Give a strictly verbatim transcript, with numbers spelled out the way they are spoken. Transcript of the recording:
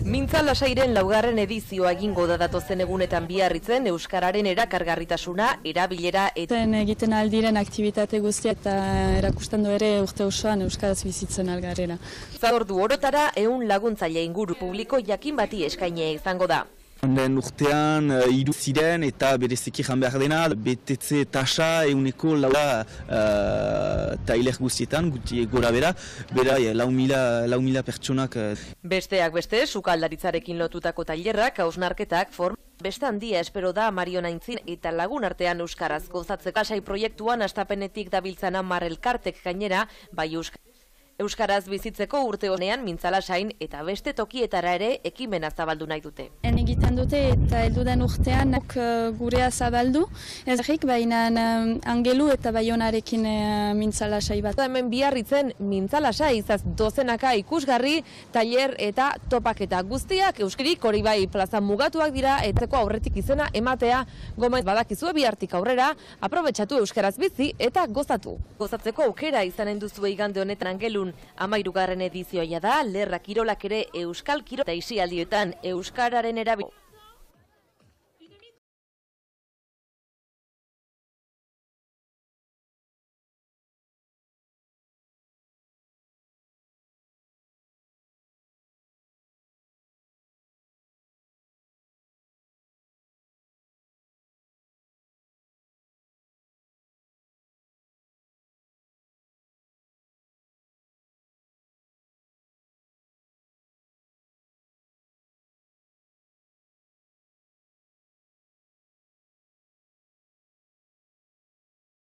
Mintza Lasairen laugarren edizioa egingo da datozen egunetan Biarritzen euskararen erakargarritasuna, erabilera eta egiten aldiren aktibitate guztia eta erakusten du ere urte osoan euskaraz bizitzen algarrera. Ordu orotara ehun laguntzaile inguru publiko jakin bati eskainea izango da. Onden urtean hiru ziren eta bereziki jan behar dena, betetze tasa euneko laua uh, tailer guztietan, guti gora bera, bera lau mila, lau mila pertsonak. Besteak beste, sukaldaritzarekin lotutako tailerrak, hausnarketak, form, beste handia espero da Marion Aintzin eta lagun artean euskaraz gozatzeko. Lasai proiektuan astapenetik dabiltzan hamar elkartek gainera, bai euskaraz. Euskaraz bizitzeko urte honean Mintza Lasain eta beste tokietara ere ekimena zabaldu nahi dute. En egiten dute eta heldudan urtean gurea zabaldu, ez egik baina Angelu eta Baionarekin Mintza Lasai bat. Hemen Biarritzen Mintza Lasai izaz dozenaka ikusgarri, tailer eta topaketa guztiak euskirik hori bai plazan mugatuak dira etzeko aurretik izena ematea gomen badakizue bihartik aurrera, aprobetxatu euskaraz bizi eta gozatu. Gozatzeko aukera izanen duzu igande honetan Angelun Hamahirugarren edizioa da, Lerra Kirolak ere euskal kirol eta isialdietan euskararen erabil.